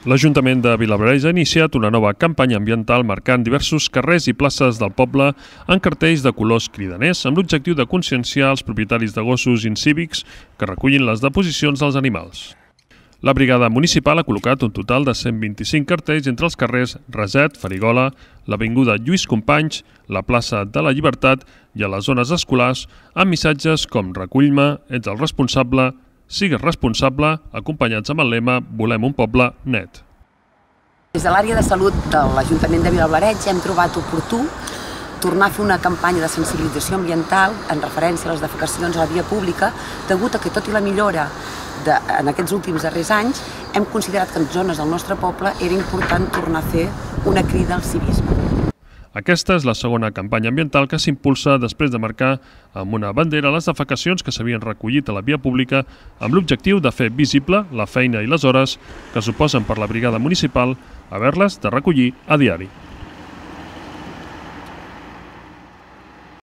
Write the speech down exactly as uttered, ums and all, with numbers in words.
L'Ajuntament de Vilablareix ha iniciat una nova campanya ambiental marcant diversos carrers i places del poble en cartells de colors cridaners amb l'objectiu de conscienciar els propietaris de gossos incívics que recullin les deposicions dels animals. La brigada municipal ha col·locat un total de cent vint-i-cinc cartells entre els carrers Raset, Farigola, l'avinguda Lluís Companys, la plaça de la Llibertat i a les zones escolars amb missatges com recull-me, ets el responsable, sigues responsable, acompanyats amb el lema Volem un poble net. Des de l'àrea de salut de l'Ajuntament de Vilablareix hem trobat oportú tornar a fer una campanya de sensibilització ambiental en referència a les defecacions a la via pública, degut a que, tot i la millora de, en aquests últims darrers anys, hem considerat que en zones del nostre poble era important tornar a fer una crida al civisme. Aquesta és la segona campanya ambiental que s'impulsa després de marcar amb una bandera les defecacions que s'havien recollit a la via pública amb l'objectiu de fer visible la feina i les hores que suposen per la brigada municipal haver-les de recollir a diari.